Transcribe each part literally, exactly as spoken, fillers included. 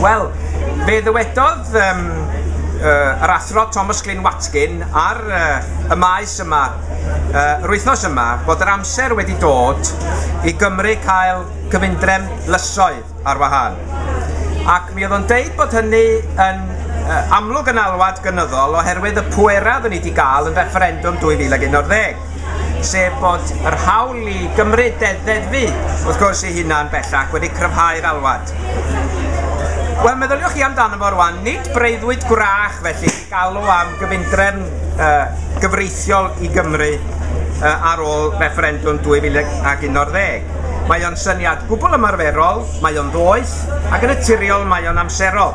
Wel, fe ddywedodd um, uh, yr athro Thomas Glyn Watkin ar uh, y maes yma, uh, yr wythnos yma, bod yr amser wedi dod i Gymru cael cyfundrefn lysoedd ar wahân. Ac mi oedd o'n deud bod hynny yn uh, amlwg yn alwad gynyddol oherwydd y pwerau oedden ni wedi gael yn refferendwm dwy fil ag unarddeg, sef bod yr hawl i Gymru deddfu, wrth gwrs, ei hunan bellach wedi cryfhau'r alwad. Wel, meddyliwch chi amdano fo rwan, nid breuddwyd gwrach felly i galw am gyfundrefn uh, gyfreithiol i Gymru uh, ar ôl refferendwm dwy fil ag unarddeg. Mae o'n syniad gwbl ymarferol, mae o'n ddoeth, ac yn naturiol mae o'n amserol.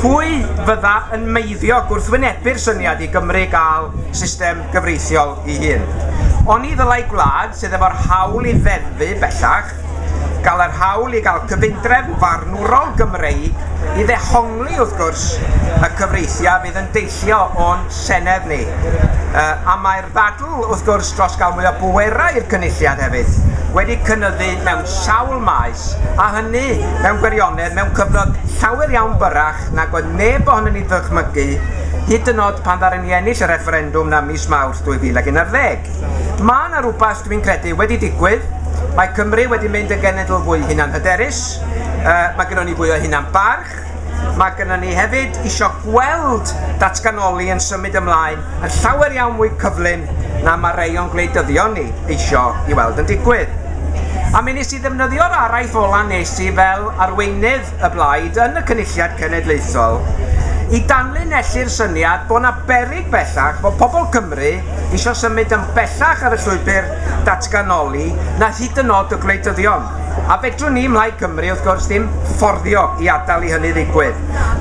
Pwy fydda yn meiddio gwrthwynebu'r syniad i Gymru gael system gyfreithiol ei hun? Oni ddylai gwlad sydd efo'r hawl i ddeddfu bellach gael yr hawl i gael cyfundrefn farnwrol Gymreig i ddehongli, wrth gwrs, y cyfreithiau fydd yn deillio o'n senedd ni. Uh, a mae'r ddadl, wrth gwrs, dros gael mwy o bwerau i'r cynulliad hefyd wedi cynyddu mewn sawl maes, a hynny mewn gwirionedd mewn cyfnod llawer iawn byrrach nag oedd neb ohonon ni ddychmygu, hyd yn oed pan ddaru ni ennill y refferendwm na mis Mawrth dwy fil ag unarddeg. Mae yna rhywbeth, dwi'n credu, wedi digwydd. Mae Cymru wedi mynd yn genedl fwy hunanhyderus, uh, mae gynnon ni fwy o hunan-barch, mae gynnon ni hefyd isio gweld datganoli yn symud ymlaen yn llawer iawn mwy cyflym na mae rhai o'n gwleidyddion ni isio i weld yn digwydd. A mi nes i ddefnyddio'r araith ola nes i fel arweinydd y blaid yn y Cynulliad Cenedlaethol i danlinellu'r syniad bod 'na beryg bellach bod pobl Cymru isio symud yn bellach ar y llwybr datganoli na hyd yn oed y gwleidyddion. A fedrwn ni ym Mhlaid Cymru, wrth gwrs, ddim fforddio i adael i hynny ddigwydd.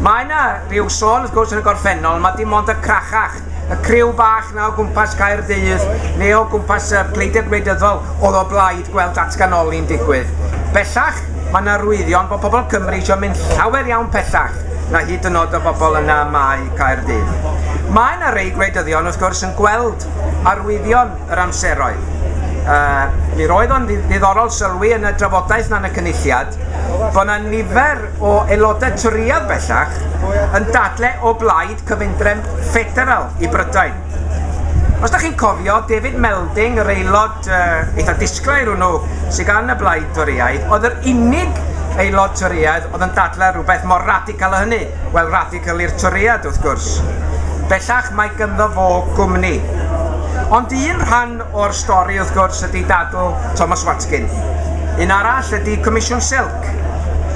Mae yna rhyw sôn, wrth gwrs, yn y gorffennol, mae dim ond y crachach, y criw bach na o gwmpas Caerdydd neu o gwmpas y pleidiau gwleidyddol oedd o blaid gweld datganoli'n digwydd. Bellach, mae yna arwyddion bod pobl Cymru eisiau mynd llawer iawn pellach na hyd yn oed y bobl yna mae Caerdydd. Mae yna rei gwleidyddion, wrth gwrs, yn gweld arwyddion yr amseroedd. Uh, mi roedd o'n ddiddorol sylwi yn y drafodaeth na yn y cynulliad bod yna nifer o aelodau Torïaidd bellach yn dadle o blaid cyfundrefn ffederal i Brydain. Os da chi'n cofio, David Melding, yr aelod uh, eitha disglair hwnnw sydd gan y blaid Torïaidd, oedd yr unig aelod Torïaidd oedd yn dadle rhywbeth mor radical â hynny. Wel, radical i'r Torïaid, wrth gwrs. Bellach mae ganddo fo gwmni. Ond un rhan o'r stori, wrth gwrs, ydy dadl Thomas Watkin. Un arall ydy Comisiwn Silk.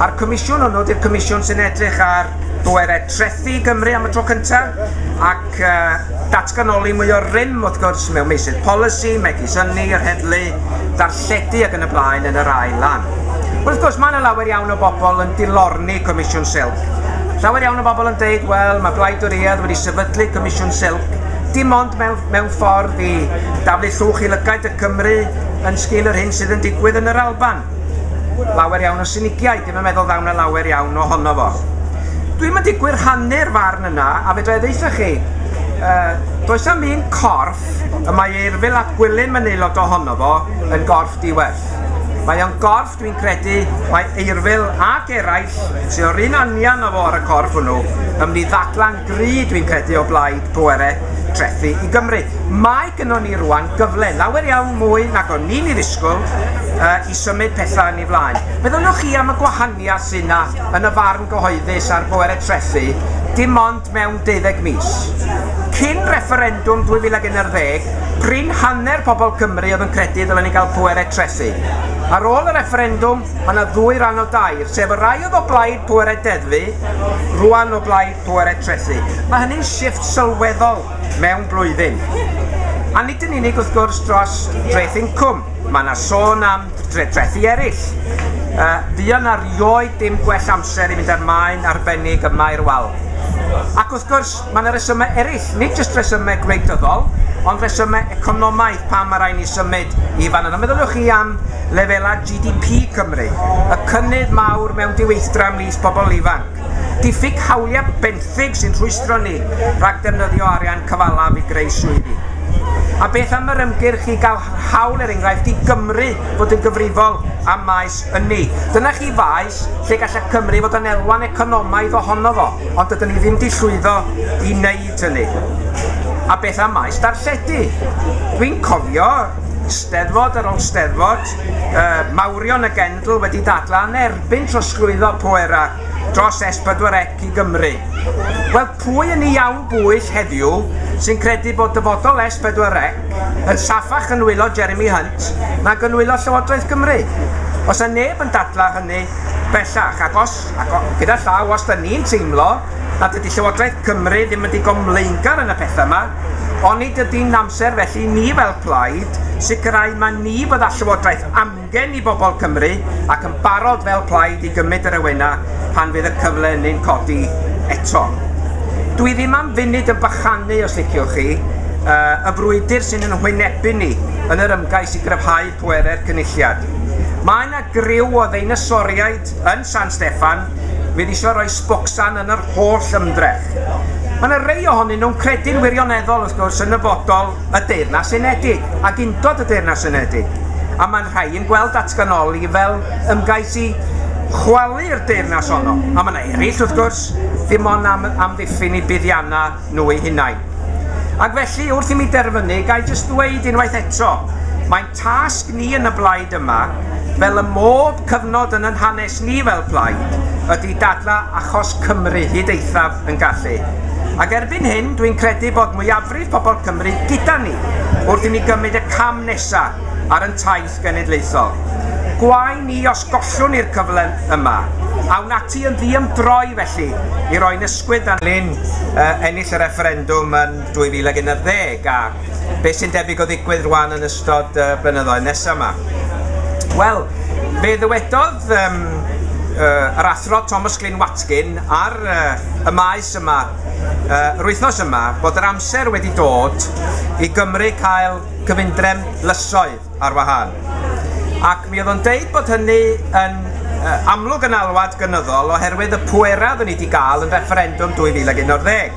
A'r comisiwn hwnnw ydy'r comisiwn sy'n edrych ar bwerau trethu Gymru am y tro cyntaf ac uh, datganoli mwy o rym, wrth gwrs, mewn meysydd polisi, megis ynni, yr heddlu, darlledu ac yn y blaen yn yr ail lan. Wrth gwrs, mae yna lawer iawn o bobl yn dilorni Comisiwn Silk. Llawer iawn o bobl yn deud, wel, mae Blaid Dorïaidd wedi sefydlu Comisiwn Silk dim ond mewn, mewn ffordd i daflu llwch i lygaid y Cymru yn sgil yr hyn sydd yn digwydd yn yr Alban. Lawer iawn o sinigiaid, dim yn meddwl ddawn na lawer iawn ohono fo. Dwi'm yn digwydd rhannu'r farn yna, a fedra i ddeutha chi, uh, does am un corff y mae Eurfyl ap Gwilym yn aelod ohono fo yn gorff diwerth. Mae o'n gorff, dwi'n credu, mae Eurfyl ac eraill sydd o'r un anian o fo ar y corff hwnnw yn mynd i ddadla'n gry, dwi'n credu, o blaid pwerau trethu i Gymru. Mae gynnon ni rwan gyfle lawer iawn mwy nag o'n ni'n ei ddisgwyl uh, i symud pethau yn ei flaen. Meddyliwch chi am y gwahaniaeth sydd yna yn y farn gyhoeddus ar bwerau trethu dim ond mewn deuddeg mis. Cyn refferendwm dwy fil ag unarddeg, prin hanner pobl Cymru oedd yn credu ddylen ni gael pwerau trethu. Ar ôl y refferendwm, mae yna ddwy ran o dair, sef y rai oedd o blaid pwerau deddfu, rwan o blaid pwerau trethu. Mae hynny'n shifft sylweddol mewn blwyddyn. A nid yn unig, wrth gwrs, dros dreth incwm. Mae yna sôn am drethu eraill. Uh, fuon erioed dim gwell amser i fynd ar maen arbennig yma i'r wal. Ac wrth gwrs, mae yna resymau eraill, nid jyst resymau gwleidyddol, ond resymau economaidd pam mae rhaid ni symud i fan yna. Meddyliwch chi am lefelau G D P Cymru, y cynnydd mawr mewn diweithdra ymhlith pobl ifanc, diffyg hawliau benthyg sy'n rhwystro ni rhag defnyddio arian cyfalaf i greu swyddi. A beth am yr ymgyrch i gael hawl, er enghraifft, i Gymru fod yn gyfrifol am maes ynni? Dyna chi faes lle gallai Cymru fod yn elwa'n economaidd ohono fo, ond dydyn ni ddim wedi llwyddo i wneud hynny. A beth am maes darlledu? Dwi'n cofio steddfod ar ôl steddfod, uh, mawrion y genedl wedi dadlau yn erbyn trosglwyddo pwerau dros S pedwar C i Gymru. Wel, pwy yn ei iawn bwyll heddiw sy'n credu bod dyfodol S pedwar C yn saffach yn nwylo Jeremy Hunt nag yn nwylo Llywodraeth Cymru? Os yna neb yn dadlau hynny bellach, ac os, ac o, gyda llaw, os da ni'n teimlo nad ydy Llywodraeth Cymru ddim yn digon mlaengar yn y pethau yma, onid ydy'n amser felly ni fel plaid sicrhau mae ni fydda Llywodraeth amgen i bobl Cymru ac yn barod fel plaid i gymryd yr awenau pan fydd y cyfle hynny'n codi eto. Dwi ddim am funud yn bychanu, os liciwch chi, uh, y frwydr sy'n yn hwynebu ni yn yr ymgais i gryfhau pwerau'r Cynulliad. Mae yna griw o ddeinosoriaid yn San Steffan fydd eisiau rhoi sbocsan yn yr holl ymdrech. Mae yna rei ohonyn nhw'n credu'n wirioneddol, wrth gwrs, yn nyfodol y Deyrnas Unedig ac undod y Deyrnas Unedig. A mae'n rhai yn gweld datganoli fel ymgais i chwalu'r deyrnas honno. A mae yna eraill, wrth gwrs, ddim ond am amddiffyn i buddiannau nhw eu hunain. Ac felly, wrth i mi derfynu, ga i jyst ddweud unwaith eto, mae'n tasg ni yn y blaid yma, fel y mob cyfnod yn yn hanes ni fel plaid, ydy dadla achos Cymru hyd eithaf yn gallu. Ac erbyn hyn, dwi'n credu bod mwyafrif pobl Cymru gyda ni wrth i ni gymryd y cam nesaf ar yn taith genedlaethol. Gwae ni os gollwn i'r cyfle yma. Awn ati yn ddiymdroi felly i roi'n ysgwydd anlyn uh, ennill y refferendwm yn dwy fil ag unarddeg a beth sy'n debyg o ddigwydd rwan yn ystod uh, blynyddoedd nesaf yma. Wel, fe ddywedodd um, uh, yr athro Thomas Glyn Watkin ar uh, y maes yma, uh, yr wythnos yma, bod yr amser wedi dod i Gymru cael cyfundrefn lysoedd ar wahân. Ac mi oedd o'n deud bod hynny yn uh, amlwg yn alwad gynyddol oherwydd y pwerau oedden ni wedi gael yn refferendwm dwy fil ag unarddeg,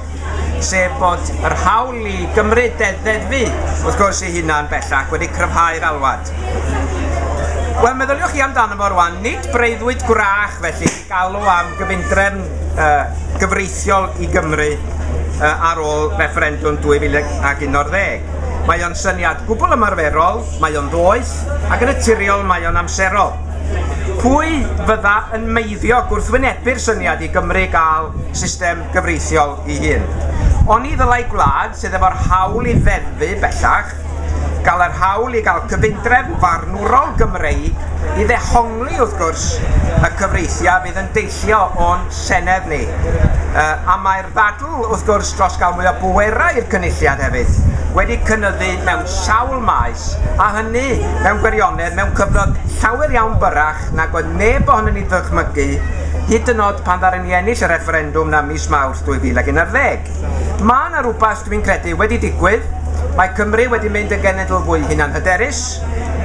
sef bod yr hawl i Gymru deddfu, wrth gwrs, ei hunan bellach wedi cryfhau'r alwad. Wel, meddyliwch chi amdano fo rwan, nid breuddwyd gwrach felly i galw am gyfundrefn uh, gyfreithiol i Gymru uh, ar ôl refferendwm dwy fil ag unarddeg. Mae o'n syniad gwbl ymarferol, mae o'n ddoeth, ac yn naturiol mae o'n amserol. Pwy fydda yn meiddio gwrthwynebu'r syniad i Gymru gael system gyfreithiol ei hun? Oni ddylai gwlad sydd efo'r hawl i ddeddfu bellach gael yr hawl i gael cyfundrefn farnwrol Gymreig i ddehongli, wrth gwrs, y cyfreithiau fydd yn deillio o'n senedd ni. Uh, a mae'r ddadl, wrth gwrs, dros gael mwy o bwerau i'r Cynulliad hefyd wedi cynyddu mewn sawl maes, a hynny mewn gwirionedd mewn cyfnod llawer iawn byrrach nag oedd neb ohonon ni ddychmygu, hyd yn oed pan ddaru ni ennill y refferendwm na mis Mawrth dwy fil ag unarddeg. Mae yna rhywbeth, dwi'n credu, wedi digwydd. Mae Cymru wedi mynd yn genedl fwy hunanhyderus,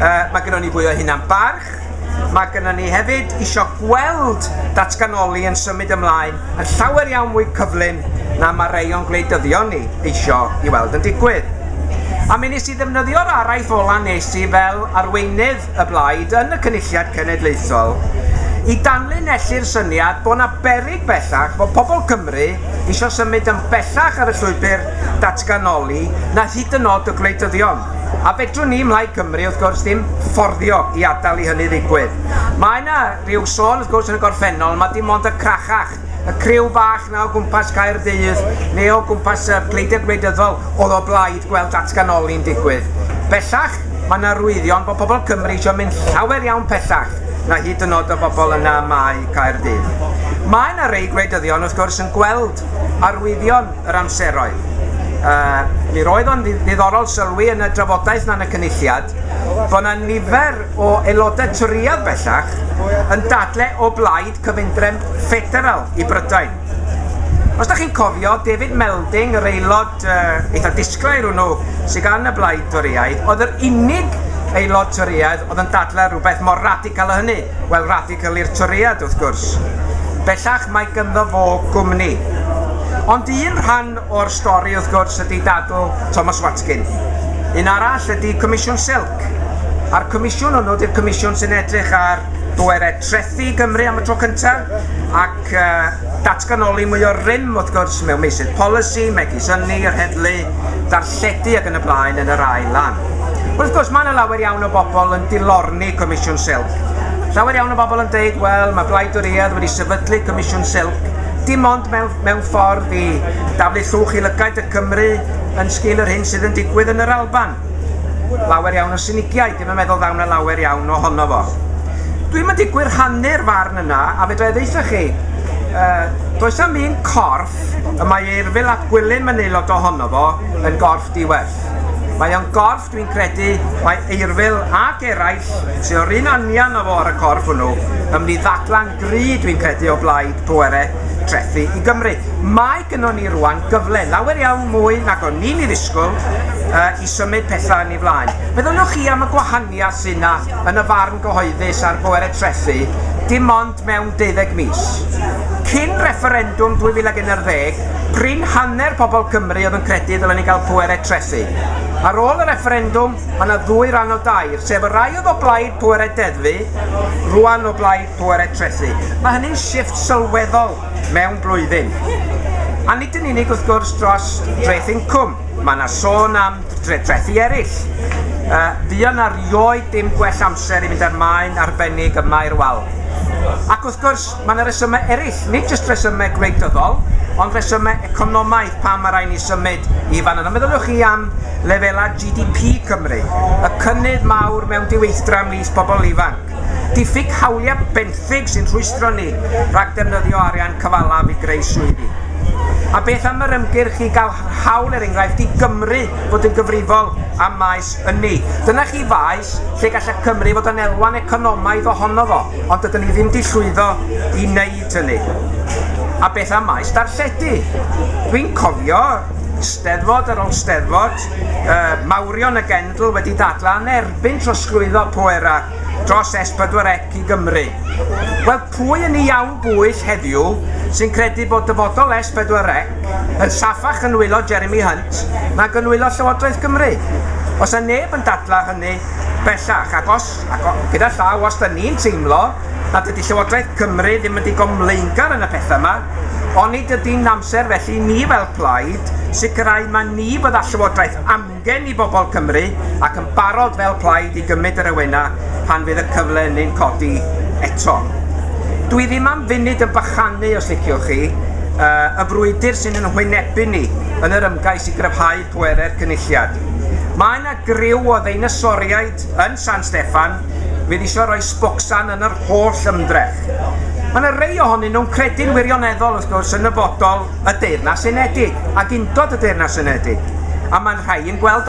uh, mae gynnon ni fwy o hunan barch, mae gynnon ni hefyd isio gweld datganoli yn symud ymlaen yn llawer iawn mwy cyflym na mae rei o'n gwleidyddion ni isio i weld yn digwydd. A mi nes i ddefnyddio'r araith ola nes i fel arweinydd y blaid yn y Cynulliad Cenedlaethol i danlinellu'r syniad bod 'na beryg bellach bod pobl Cymru isio symud yn bellach ar y llwybr datganoli na hyd yn oed y gwleidyddion. A fedrwn ni ym Mhlaid Cymru, wrth gwrs, ddim fforddio i adael i hynny ddigwydd. Mae yna rhyw sôn, wrth gwrs, yn y gorffennol, mae dim ond y crachach, y criw bach na o gwmpas Caerdydd neu o gwmpas y pleidiau gwleidyddol oedd o blaid gweld datganoli'n digwydd. Bellach, mae yna arwyddion bod pobl Cymru eisiau mynd llawer iawn pellach na hyd yn oed y bobl yna mae Caerdydd. Mae yna rei gwleidyddion, wrth gwrs, yn gweld arwyddion yr amseroedd. Uh, mi roedd o'n ddiddorol sylwi yn y drafodaeth na yn y Cynulliad bod yna nifer o aelodau Torïaidd bellach yn dadle o blaid cyfundrefn ffederal i Brydain. Os da chi'n cofio, David Melding, yr aelod uh, eitha disglair hwnnw sydd gan y blaid Torïaidd, oedd yr unig aelod Torïaidd oedd yn dadle rhywbeth mor radical â hynny. Wel, radical i'r Torïaid, wrth gwrs. Bellach mae ganddo fo gwmni. Ond un rhan o'r stori, wrth gwrs, ydy dadl Thomas Watkin. Un arall ydy Comisiwn Silk. A'r comisiwn hwnnw ydy'r comisiwn sy'n edrych ar bwerau trethu Gymru am y tro cyntaf ac uh, datganoli mwy o rym wrth gwrs mewn meysydd polisi, megis ynni, yr heddlu, darlledu ac yn y blaen yn yr ail lan. Wrth gwrs, mae yna lawer iawn o bobl yn dilorni Comisiwn Silk. Llawer iawn o bobl yn deud, wel, mae Blaid Dorïaidd wedi sefydlu Comisiwn Silk dim ond mewn, mewn ffordd i daflu llwch i lygaid y Cymru yn sgil yr hyn sydd yn digwydd yn yr Alban. Lawer iawn o sinigiaid, dim yn meddwl ddaw 'na lawer iawn ohono fo. Dwi'm yn digwydd rhannu'r farn yna, a fedra i ddeutha chi, uh, does 'am un corff y mae Eurfyl ap Gwilym yn aelod ohono fo yn gorff diwerth. Mae o'n gorff, dwi'n credu, mae Eurfyl ac eraill sydd o'r un anian o fo ar y corff hwnnw yn mynd i ddadla'n gry, dwi'n credu, o blaid pwerau trethu i Gymru. Mae gynnon ni rwan gyfle lawer iawn mwy nag o'n ni'n ei ddisgwyl uh, i symud pethau yn ei flaen. Meddyliwch chi am y gwahaniaeth sydd yna yn y farn gyhoeddus ar bwerau trethu dim ond mewn deuddeg mis. Cyn refferendwm dwy fil ag unarddeg, prin hanner pobl Cymru oedd yn credu ddylen ni gael pwerau trethu. Ar ôl y refferendwm, mae yna ddwy ran o dair, sef y rai oedd o blaid pwerau deddfu, rwan o blaid pwerau trethu. Mae hynny'n shifft sylweddol mewn blwyddyn. A nid yn unig wrth gwrs dros dreth incwm, mae yna sôn am trethi eraill. Uh, fuon na rioed dim gwell amser i fynd â'r maen arbennig yma i'r wal. Ac wrth gwrs, mae yna resymau eraill, nid jyst resymau gwleidyddol, ond resymau economaidd pam mae rhaid ni symud i fan yna. Meddyliwch chi am lefelau G D P Cymru, y cynnydd mawr mewn diweithdra ymhlith pobl ifanc, diffyg hawliau benthyg sy'n rhwystro ni rhag defnyddio arian cyfalaf i greu swyddi. A beth am yr ymgyrch i gael hawl, er enghraifft, i Gymru fod yn gyfrifol am maes ynni? Dyna chi faes lle gallai Cymru fod yn elwa'n economaidd ohono fo, ond dydyn ni ddim wedi llwyddo i wneud hynny. A beth am maes darlledu? Dwi'n cofio steddfod ar ôl steddfod, uh, mawrion y genedl wedi dadla yn erbyn trosglwyddo pwerau dros S pedwar C i Gymru. Wel, pwy yn ei iawn bwyll heddiw sy'n credu bod dyfodol S pedwar C yn saffach yn nwylo Jeremy Hunt nag yn nwylo Llywodraeth Cymru? Os yna neb yn dadla hynny bellach, ac os, ac o, gyda llaw, os da ni'n teimlo nad ydy Llywodraeth Cymru ddim yn digon mlaengar yn y pethau yma, onid ydy'n amser felly ni fel plaid sicrhau mae ni fydda Llywodraeth amgen i bobl Cymru ac yn barod fel plaid i gymryd yr awenau pan fydd y cyfle hynny'n codi eto. Dwi ddim am funud yn bychanu, os liciwch chi, uh, y frwydr sy'n yn hwynebu ni yn yr ymgais i gryfhau pwerau'r Cynulliad. Mae yna griw o ddeinosoriaid yn San Steffan fydd eisiau rhoi sbocsan yn yr holl ymdrech. Mae yna rei ohonyn nhw'n credu'n wirioneddol, wrth gwrs, yn nyfodol y Deyrnas Unedig ac undod y Deyrnas Unedig. A mae'n rhai yn gweld